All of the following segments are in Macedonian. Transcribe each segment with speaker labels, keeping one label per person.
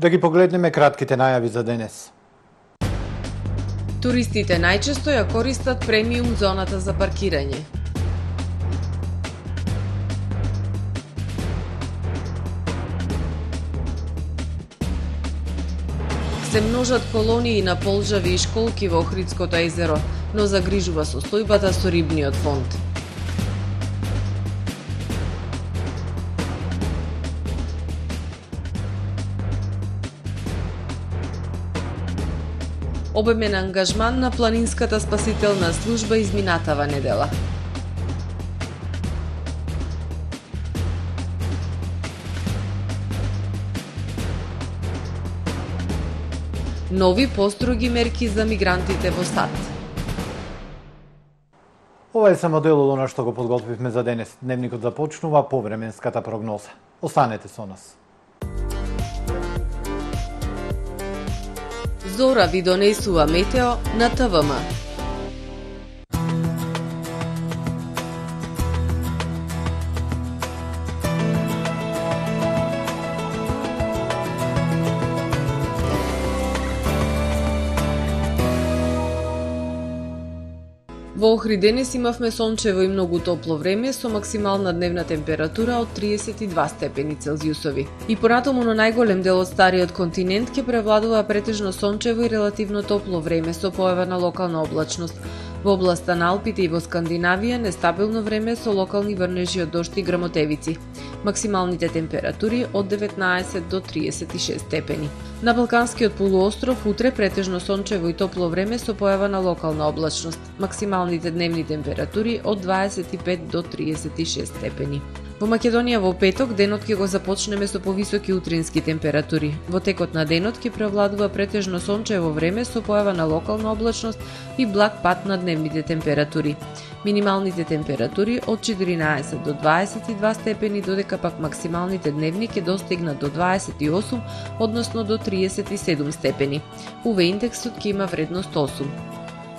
Speaker 1: Да ги погледнеме кратките најави за денес.
Speaker 2: Туристите најчесто ја користат премиум зоната за паркирање. Се множат колонии на полжави и школки во Охридското езеро, но загрижува состојбата со рибниот фонд. Обемен ангажман на планинската спасителна служба изминатава недела. Нови построги мерки за мигрантите во САД.
Speaker 1: Ова е само дел од она што го подготвивме за денес. Дневникот започнува по временската прогноза. Останете со нас.
Speaker 2: Зора ви донесува метео на ТВМ. Во Охрид денес имавме сончево и многу топло време со максимална дневна температура од 32 степени Целзиусови. И понатаму на најголем дел од стариот континент ќе превладува претежно сончево и релативно топло време со појава на локална облачност. Во областа на Алпите и во Скандинавија нестабилно време со локални врнежи од дожд и грмотевици. Максималните температури од 19 до 36 степени. На Балканскиот полуостров утре претежно сончево и топло време со појава на локална облачност. Максималните дневни температури од 25 до 36 степени. Во Македонија во петок денот ќе го започнеме со повисоки утрински температури. Во текот на денот ќе превладува претежно сончево време со појава на локална облачност и благ пад на дневните температури. Минималните температури од 14 до 22 степени, додека пак максималните дневни ќе достигнат до 28, односно до 37 степени. УВ индексот ќе има вредност 8.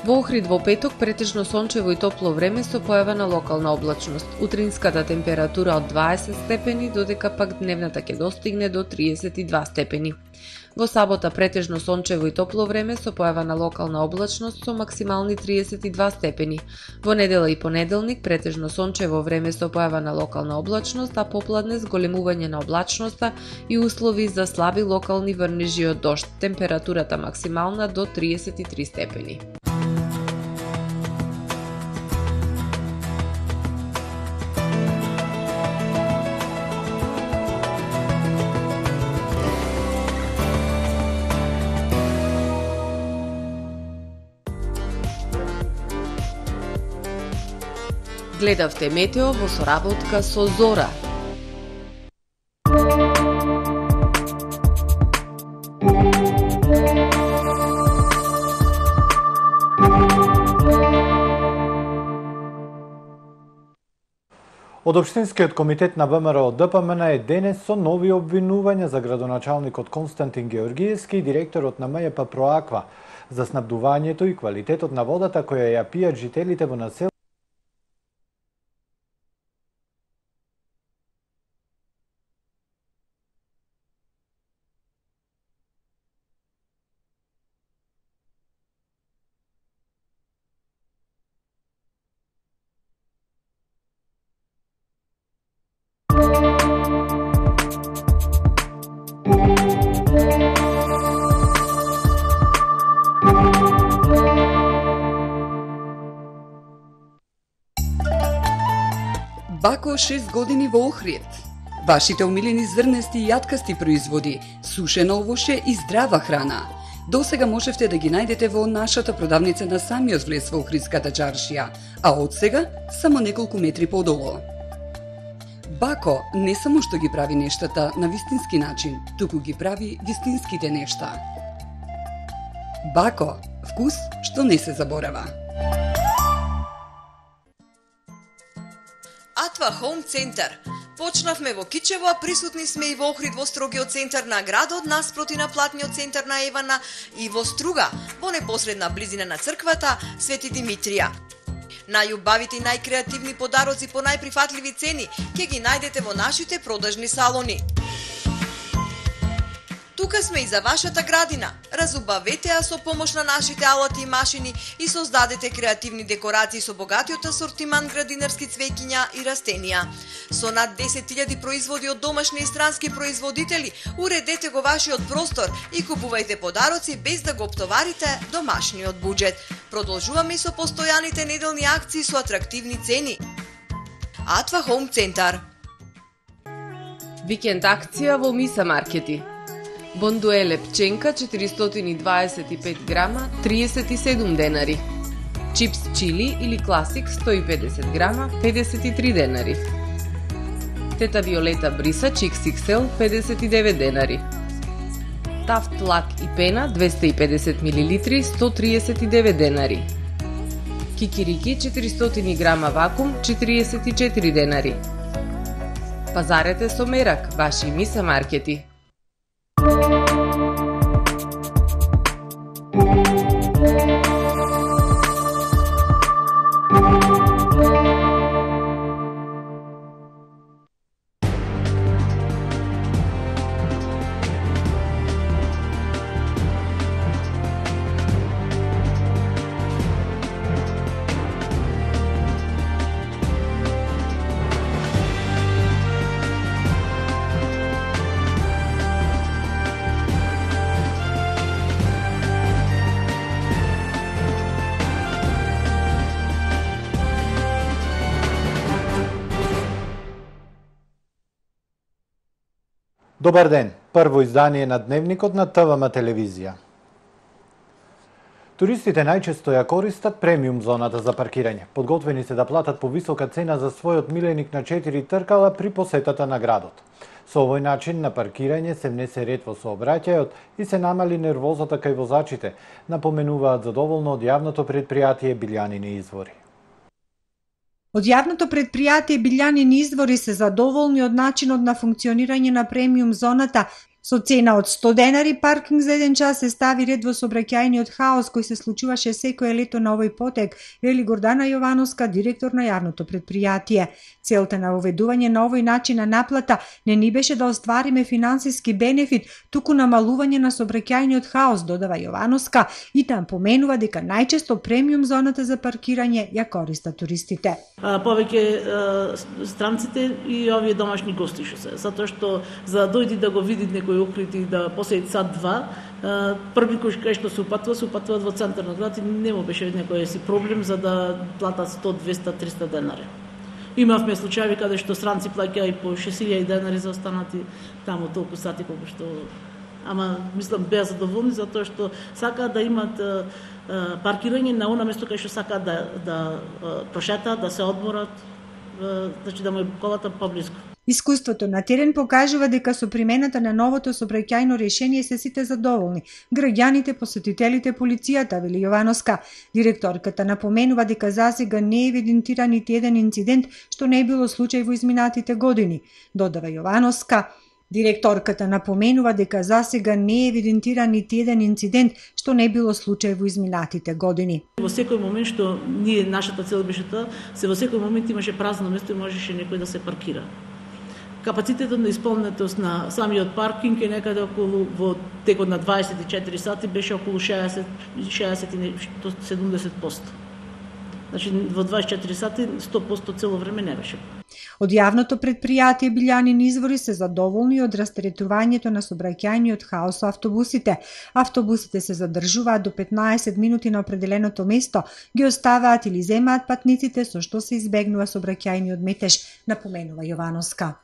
Speaker 2: Во Охрид во петок претежно сончево и топло време со појава на локална облачност. Утринската температура од 20 степени, додека пак дневната ќе достигне до 32 степени. Во сабота претежно сончево и топло време со појава на локална облачност со максимални 32 степени. Во недела и понеделник претежно сончево време со појава на локална облачност, а попладне зголемување на облачноста и услови за слаби локални врнежи од дожд. Температурата максимална до 33 степени. Гледавте метео во соработка со Зора.
Speaker 1: Од Општинскиот комитет на ВМРО ДПМН е денес со нови обвинувања за градоначалникот Константин Георгиевски и директорот на МЈП Проаква за снабдувањето и квалитетот на водата која ја пијат жителите во населението.
Speaker 3: Бако 6 години во Охрид. Вашите омилени зрнести и јаткасти производи, сушено овоше и здрава храна. Досега можевте да ги најдете во нашата продавница на самиот влез во Охридската чаршија, а од сега само неколку метри подолу. Бако не само што ги прави нештата на вистински начин, туку ги прави вистинските нешта. Бако, вкус што не се заборава.
Speaker 4: Атва Хоум Центар. Почнавме во Кичево, а присутни сме и во Охрид во строгиот центар на градот, наспроти на платниот центар на Евана и во Струга, во непосредна близина на црквата Свети Димитрија. Најубавите и најкреативни подароци по најприфатливи цени ќе ги најдете во нашите продажни салони. Тука сме и за вашата градина. Разубавете ја со помош на нашите алати и машини и создадете креативни декорации со богатиот асортиман градинарски цвеќиња и растенија. Со над 10.000 производи од домашни и странски производители, уредете го вашиот простор и купувајте подароци без да го оптоварите домашниот буџет. Продолжуваме и со постојаните неделни акции со атрактивни цени. Атва Хоум Центар.
Speaker 2: Викенд акција во Миса маркети. Бондуеле пченка 425 грама 37 денари. Чипс чили или класик 150 грама 53 денари. Тета Виолета бриса XXL 59 денари. Тафт лак и пена 250 мл 139 денари. Кикирики 400 грама вакуум 44 денари. Пазарете со мерак, ваши Миса маркети.
Speaker 1: Добар ден! Прво издание на Дневникот на ТВМ телевизија. Туристите најчесто ја користат премиум зоната за паркирање. Подготвени се да платат повисока цена за својот миленик на 4 тркала при посетата на градот. Со овој начин на паркирање се внесе ред во сообраќајот и се намали нервозата кај возачите, напоменуваат задоволно од јавното предпријатие Билјанини извори.
Speaker 5: Од јавното предпријатие Билјанини извори се задоволни од начинот на функционирање на премиум зоната. Со цена од 100 денари паркинг за 1 час се стави ред во сообраќајниот хаос кој се случуваше секое лето на овој потек, вели Гордана Јовановска, директор на јавното предпријатие. Целта на воведување на овој начин на наплата не ни беше да оствариме финансиски бенефит, туку намалување на сообраќајниот хаос, додава Јовановска, и там поменува дека најчесто премиум зоната за паркирање ја користат туристите.
Speaker 6: Повеќе странците и овие домашни гости што се, затоа што за да дојди да го види некој укрити да поседи сат-два, први кај што се упатуваат во центар на градот и не му беше некој си проблем за да платат 100, 200, 300 денари. Имавме случаи каде што странци плаќаа и по 6000 денари за останати таму толку сати колку што, ама мислам беа задоволни затоа што сакаат да имат паркирање на она место кај што сакаат да прошетаат, да се одморат, значи да му е колата поблиску.
Speaker 5: Искуството на терен покажува дека со примената на новото сообраќајно решение се сите задоволни. Граѓаните, посетителите, полицијата, вели Јовановска. Директорката напоменува дека засега не е евидентиран нити еден инцидент што не е било случај во изминатите години. Додава Јовановска. Директорката напоменува дека засега не е евидентиран нити еден инцидент што не е било случај во изминатите години.
Speaker 6: Во секој момент што нашата цел беше тоа, во секој момент имаше празно место и можеше некој да се паркира. Капацитетот на исполнетост на самиот паркинг е некаде околу во текот на 24 сати беше околу 60-70%. Значи во 24 сати 100% цело време не беше.
Speaker 5: Од јавното предпријатие Билјанини извори се задоволни од растретувањето на сообраќајниот хаос со автобусите. Автобусите се задржуваат до 15 минути на определеното место, ги оставаат или земаат патниците со што се избегнува сообраќајниот метеж, напоменува Јовановска.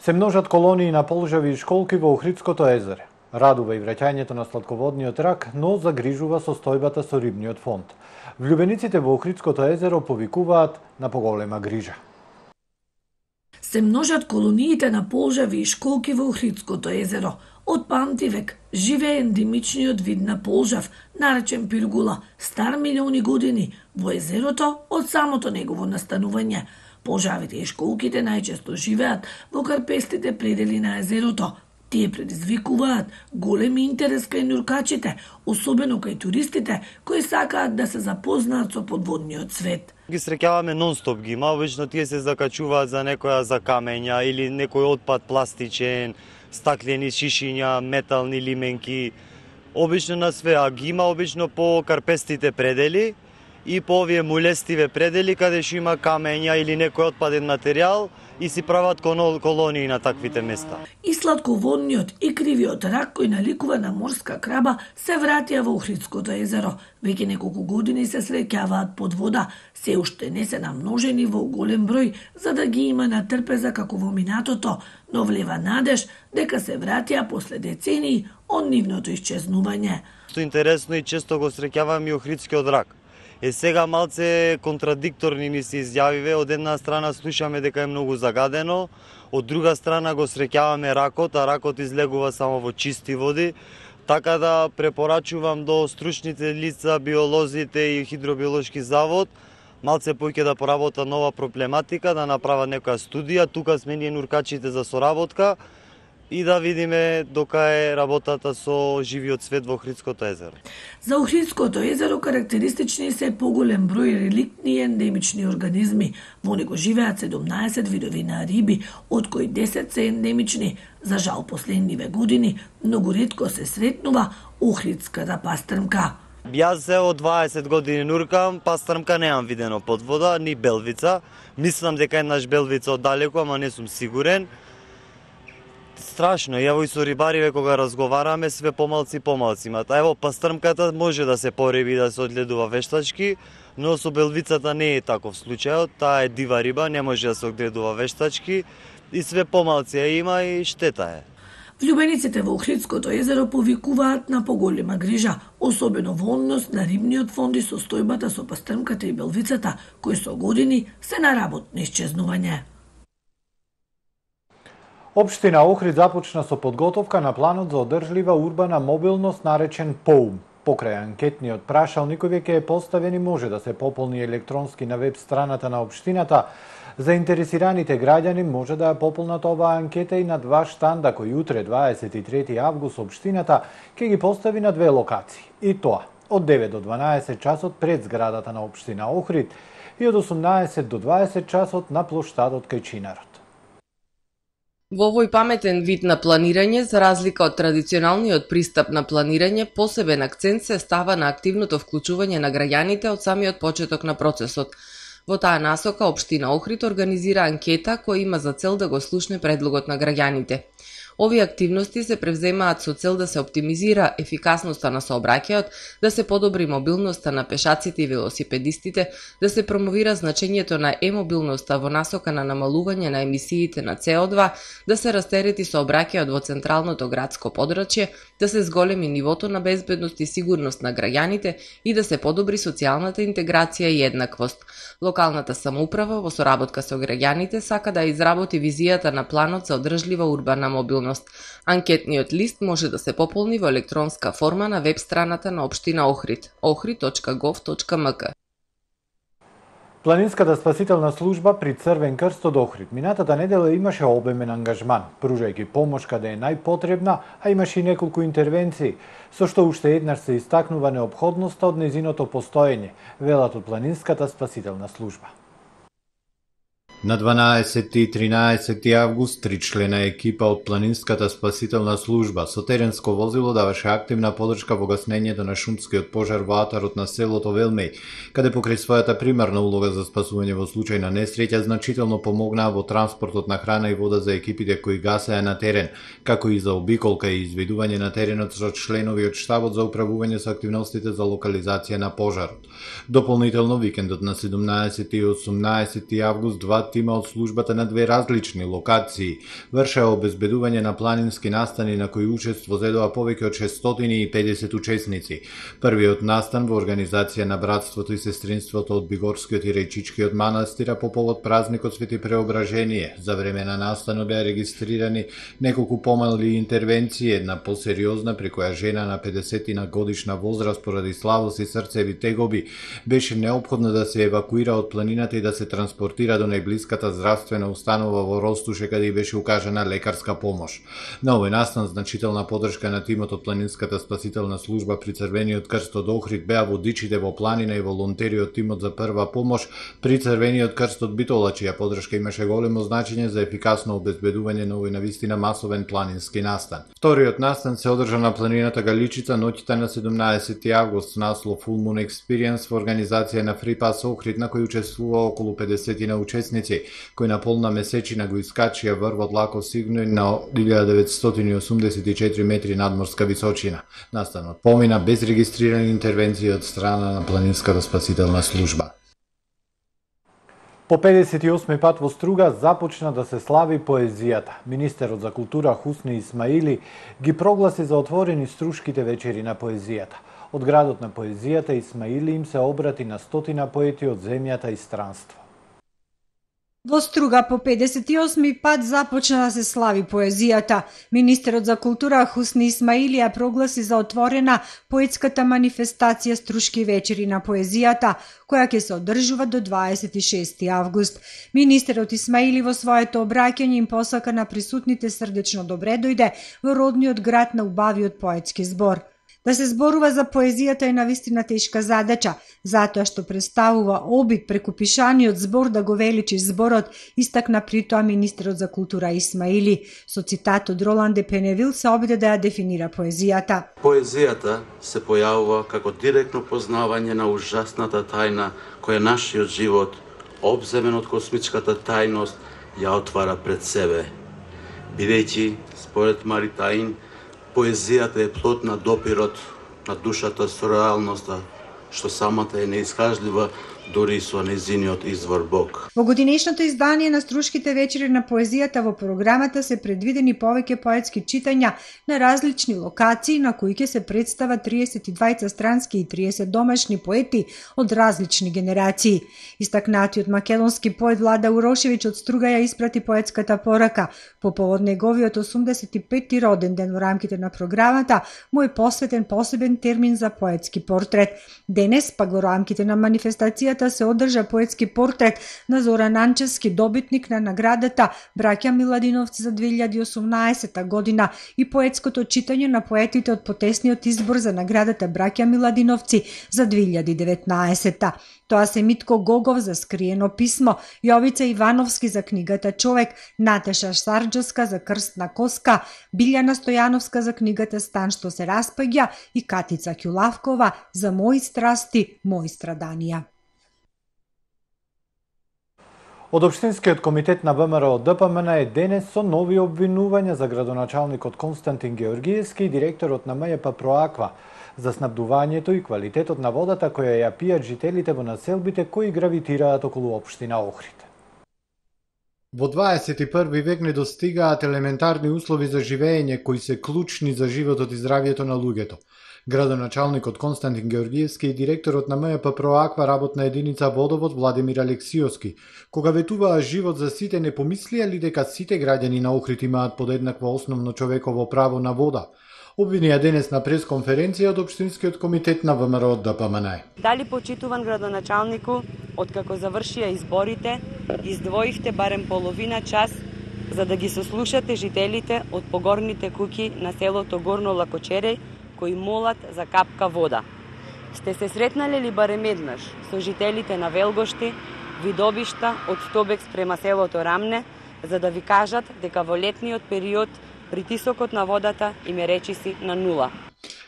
Speaker 1: Се множат колонии на полжави и школки во Охридското езеро. Радува и враќањето на сладководниот рак, но загрижува состојбата со рибниот фонд. Влюбениците во Охридското езеро повикуваат на поголема грижа.
Speaker 7: Се множат колониите на полжави и школки во Охридското езеро. Од памтивек живее ендемичниот вид на полжав, наречен пиргула, стар милиони години во езерото од самото негово настанување. Полжавите и школките најчесто живеат во карпестите предели на езерото. Тие предизвикуваат голем интерес кај нуркачите, особено кај туристите кои сакаат да се запознаат со подводниот свет.
Speaker 8: Ги среќаваме нон-стоп ги има, обично тие се закачуваат за некоја за камења или некој отпад пластичен, стаклени шишиња, метални лименки, обично на све, а ги има обично по карпестите предели и по овие мулестиве предели каде што има камења или некој отпаден материјал и си прават колонии на таквите места.
Speaker 7: И сладководниот и кривиот рак кој наликува на морска краба се вратија во Охридското езеро. Веќе неколку години се среќаваат под вода, се уште не се намножени во голем број за да ги има на трпеза како во минатото, но влева надеж дека се вратија после децении од нивното исчезнување.
Speaker 8: Што интересно и често го среќаваме и Охридскиот рак. Сега малце контрадикторни ни се изјавиве, од една страна слушаме дека е многу загадено, од друга страна го среќаваме ракот, а ракот излегува само во чисти води, така да препорачувам до стручните лица, биолозите и хидробиолошки завод, малце поќе да поработа нова проблематика, да направат некоја студија, тука сме ние нуркачите за соработка, и да видиме дока е работата со живиот свет во Охридското езеро.
Speaker 7: За Охридското езеро карактеристични се поголем број реликтни и ендемични организми. Во него живеат 17 видови на риби, од кои 10 се ендемични. За жал последниве години многу ретко се сретнува охридската пастрмка.
Speaker 8: Јас се од 20 години нуркам, пастрмка неам видено под вода, ни белвица. Мислам дека еднаш белвица оддалеку, ама не сум сигурен. Страшно, ево и со рибариве кога разговараме, све помалци имат. Ево пастрмката може да се пореби да се одгледува вештачки, но со белвицата не е таков случајот, таа е дива риба, не може да се одгледува вештачки и све помалци ја има и штета е.
Speaker 7: Влюбениците во Охридското езеро повикуваат на поголема грижа, особено во однос на рибниот фонд и состојбата со пастрмката и белвицата, кои со години се на работно исчезнување.
Speaker 1: Општина Охрид започна со подготовка на планот за одржлива урбана мобилност наречен ПОУМ. Покрај анкетниот прашалник кој веќе е поставен и може да се пополни електронски на веб страната на општината, заинтересираните граѓани може да ја пополнат оваа анкета и на два штанда кои утре 23 август општината ќе ги постави на две локации. И тоа од 9 до 12 часот пред зградата на општина Охрид и од 18 до 20 часот на плоштадот кај Чинарот.
Speaker 2: Во овој паметен вид на планирање, за разлика од традиционалниот пристап на планирање, посебен акцент се става на активното вклучување на граѓаните од самиот почеток на процесот. Во таа насока, општина Охрид организира анкета која има за цел да го слушне предлогот на граѓаните. Овие активности се превземаат со цел да се оптимизира ефикасноста на сообраќајот, да се подобри мобилноста на пешаците и велосипедистите, да се промовира значењето на е-мобилноста во насока на намалување на емисиите на CO2, да се растерети сообраќајот во централното градско подрачје, да се зголеми нивото на безбедност и сигурност на граѓаните и да се подобри социјалната интеграција и еднаквост. Локалната самоуправа во соработка со граѓаните сака да изработи визијата на планот за одржлива урбана мобилност. Анкетниот лист може да се пополни во електронска форма на веб страната на општина Охрид, ohrid.gov.mk.
Speaker 1: Планинската спасителна служба при Црвен крст од Охрид минатата недела имаше обемен ангажман, пружајќи помош каде е најпотребна, а имаше и неколку интервенции, со што уште еднаш се истакнува неопходноста од нејзиното постоење, велат од Планинската спасителна служба.
Speaker 9: На 12 и 13 август, 3-члена екипа од Планинската спасителна служба со теренско возило даваше активна подршка во гаснењето на шумскиот пожар во атарот на селото Велмеј, каде покрај својата примарна улога за спасување во случај на несреќа значително помогнаа во транспортот на храна и вода за екипите кои гасеа на терен, како и за обиколка и изведување на теренот со членови од штабот за управување со активностите за локализација на пожарот. Дополнително, викендот на 17 и 18 август, два тима од службата на две различни локации вршеа обезбедување на планински настани на кои учество зедоа повеќе од 650 учесници. Првиот настан во организација на братството и сестринството од Бигорскиот и Рејчичкиот манастира по повод празникот Свети Преображение. За време на настанот беа регистрирани неколку помали интервенции, една посериозна при која жена на 50 годишна возраст поради слабост и срцеви тегоби беше неопходно да се евакуира од планината и да се транспортира до најблиското блиската здравствена установа во Ростуше, каде и беше укажана лекарска помош. На овој настан значителна подршка на тимот од Планинската спасителна служба при Црвениот крст од Охрид беа водичите во планина и волонтери од тимот за прва помош при Црвениот крст од Битола, чија подршка имаше големо значење за ефикасно обезбедување на овој навистина масовен планински настан. Вториот настан се одржа на планината Галичица ноќта на 17 август, наслов Full Moon Experience во организација на Free Pass Охрид, на кој учествува околу 50 на учесници, кои на полна месечина го искачија врвот Лако Сигној на 1984 метри надморска височина. Настанот помина без регистрирани интервенции од страна на Планинската спасителна служба.
Speaker 1: По 58 пат во Струга започна да се слави поезијата. Министерот за култура Хусни Исмаили ги прогласи за отворени струшките вечери на поезијата. Од градот на поезијата Исмаили им се обрати на стотина поети од земјата и странство.
Speaker 5: Во Струга по 58 пат започна да се слави поезијата. Министерот за култура Хусни Исмаили ја прогласи за отворена поетската манифестација Струшки вечери на поезијата, која ќе се одржува до 26 август. Министерот Исмаили во своето обраќање им посака на присутните срдечно добре дојде во родниот град на убавиот поетски збор. Да се зборува за поезијата е навистина тешка задача, затоа што представува обид преку пишаниот збор да го величи зборот, истакна при тоа министерот за култура Исмаили. Со цитат од Ролан де Пеневил се обиде да ја дефинира поезијата.
Speaker 10: Поезијата се појавува како директно познавање на ужасната тајна која нашиот живот, обземен од космичката тајност, ја отвара пред себе. Бидејќи, според Мари Таин, поезијата е плод на допирот на душата со реалноста, што самата е неискажлива дури со нејзиниот извор Бог.
Speaker 5: Во годинешното издание на Струшките вечери на поезијата во програмата се предвидени повеќе поетски читања на различни локации на кои ќе се представат 32 странски и 30 домашни поети од различни генерации. Истакнатиот македонски поет Влада Урошевиќ од Струга ја испрати поетската порака. По повод неговиот 85-ти роден ден во рамките на програмата му е посветен посебен термин за поетски портрет. Денес, пак во рамките на манифестацијата се одржа поетски портрет на Зоран Анчевски, добитник на наградата Браќа Миладиновци за 2018 година и поетското читање на поетите од потесниот избор за наградата Браќа Миладиновци за 2019. Тоа се Митко Гогов за Скриено писмо, Јовица Ивановски за книгата Човек, Наташа Сарџовска за Крстна коска, Билјана Стојановска за книгата Стан што се распаѓа и Катица Ќулавкова за Мои страсти, мои страданија.
Speaker 1: Од Општинскиот комитет на ВМРО ДПМН е денес со нови обвинувања за градоначалникот Константин Георгиевски и директорот на МЈП Проаква за снабдувањето и квалитетот на водата која ја пијат жителите во населбите кои гравитираат околу општина Охрид.
Speaker 9: Во 21 век не достигаат елементарни услови за живење кои се клучни за животот и здравјето на луѓето. Градоначалникот Константин Георгиевски и директорот на МЈП Проаква работна единица Водовод Владимир Алексиовски, кога ветуваа живот за сите, не помислија ли дека сите граѓани на Охрид имаат подеднакво основно човеково право на вода? Обвинија денес на пресконференција од Општинскиот комитет на ВМРО ДПМН.
Speaker 11: Дали почитуван градоначалнику, откако завршија изборите, издвоивте барем половина час за да ги сослушате жителите од погорните куќи на селото Горно Лакочереј, кои молат за капка вода. Сте се сретнале ли барем еднаш со жителите на Велгошти, Видобишта, од Стобекс према селото Рамне, за да ви кажат дека во летниот период притисокот на водата им е речиси на нула?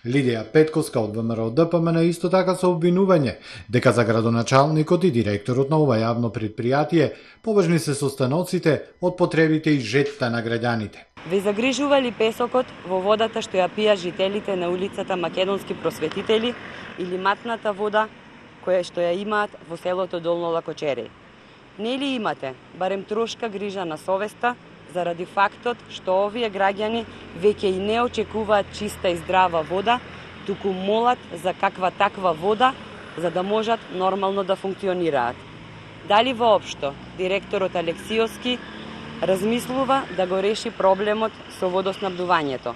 Speaker 9: Лидија Петковска од ВМРО ДПМН исто така со обвинување дека за градоначалникот и директорот на ова јавно предпријатие поважни се состаноците од потребите и жетта на граѓаните.
Speaker 11: Ве загрижува ли песокот во водата што ја пијат жителите на улицата Македонски просветители или матната вода која што ја имаат во селото Долно Лакочереј? Не ли имате барем трошка грижа на совеста заради фактот што овие граѓани веќе и не очекуваат чиста и здрава вода, туку молат за каква таква вода за да можат нормално да функционираат? Дали воопшто директорот Алексиовски размислува да го реши проблемот со водоснабдувањето?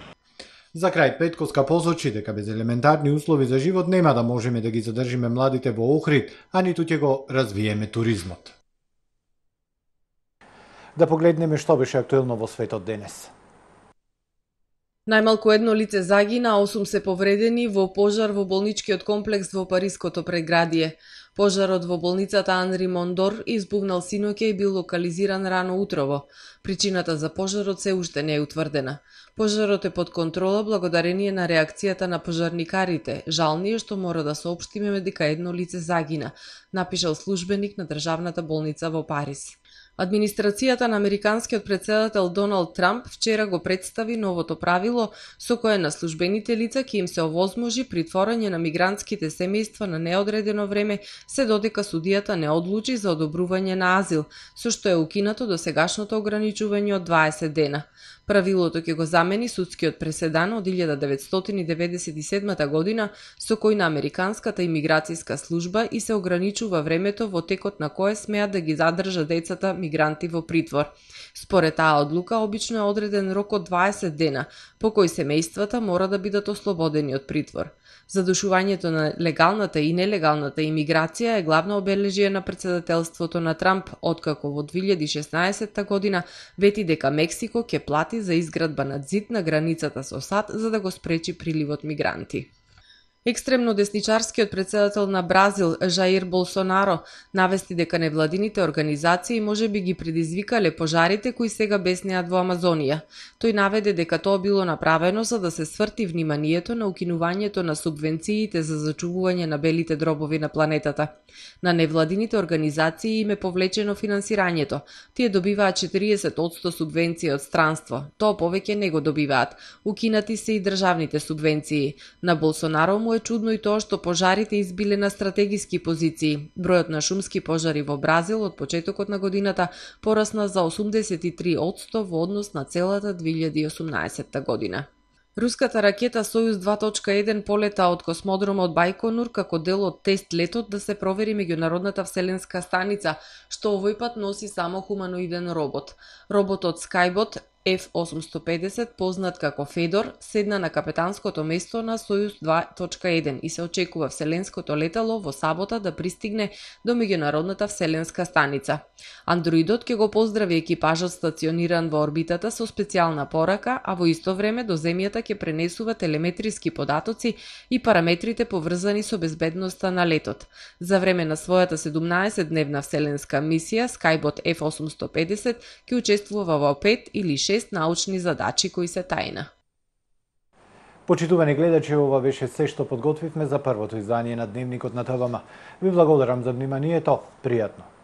Speaker 9: За крај Петковска посочи дека без елементарни услови за живот нема да можеме да ги задржиме младите во Охрид, а ниту ќе го развиеме туризмот.
Speaker 1: Да погледнеме што беше актуелно во светот денес.
Speaker 2: Најмалку едно лице загина, 8 се повредени во пожар во болничкиот комплекс во Париското предградие. Пожарот во болницата Анри Мондор избувнал синоќа и бил локализиран рано утрово. Причината за пожарот се уште не е утврдена. Пожарот е под контрола благодарение на реакцијата на пожарникарите. Жални е што мора да соопштиме дека едно лице загина, напишал службеник на државната болница во Париз. Администрацијата на американскиот претседател Доналд Трамп вчера го представи новото правило со кое на службените лица ќе им се овозможи притворање на мигрантските семејства на неодредено време се додека судијата не одлучи за одобрување на азил, со што е укинато досегашното ограничување од 20 дена. Правилото ќе го замени судскиот преседан од 1997 година со кој на Американската имиграцијска служба и се ограничува времето во текот на кое смеат да ги задржа децата мигранти во притвор. Според таа одлука обично е одреден рок од 20 дена, по кој семејствата мора да бидат ослободени од притвор. Задушувањето на легалната и нелегалната имиграција е главно обележие на претседателството на Трамп, откако во 2016 година вети дека Мексико ќе плати за изградба на ѕид на границата со САД за да го спречи приливот мигранти. Екстремно десничарскиот претседател на Бразил, Жаир Болсонаро, навести дека невладините организации можеби ги предизвикале пожарите кои сега беснеат во Амазонија. Тој наведе дека тоа било направено за да се сврти вниманието на укинувањето на субвенциите за зачувување на белите дробови на планетата. На невладините организации им е повлечено финансирањето. Тие добиваат 40% субвенција од странство. Тоа повеќе не го добиваат. Укинати се и државните субвенции. На Болсонаро му е чудно и тоа што пожарите избиле на стратегиски позиции. Бројот на шумски пожари во Бразил од почетокот на годината порасна за 83% во однос на целата 2018 година. Руската ракета Сојуз 2.1 полета од космодромот Бајконур како дел од тест летот да се провери меѓународната вселенска станица, што овој пат носи само хуманоиден робот. Роботот Skybot F-850, познат како Федор, седна на капетанското место на Сојуз 2.1 и се очекува вселенското летало во сабота да пристигне до меѓународната вселенска станица. Андроидот ќе го поздрави екипажот стациониран во орбитата со специјална порака, а во исто време до земјата ќе пренесува телеметриски податоци и параметрите поврзани со безбедноста на летот. За време на својата 17-дневна вселенска мисија, Skybot F-850 ќе учествува во 5 или 6 научни задачи кои се тајна.
Speaker 1: Почитувани гледачи, ова беше се што подготвивме за првото издание на Дневникот на ТВМ. Ви благодарам за вниманието. Пријатно.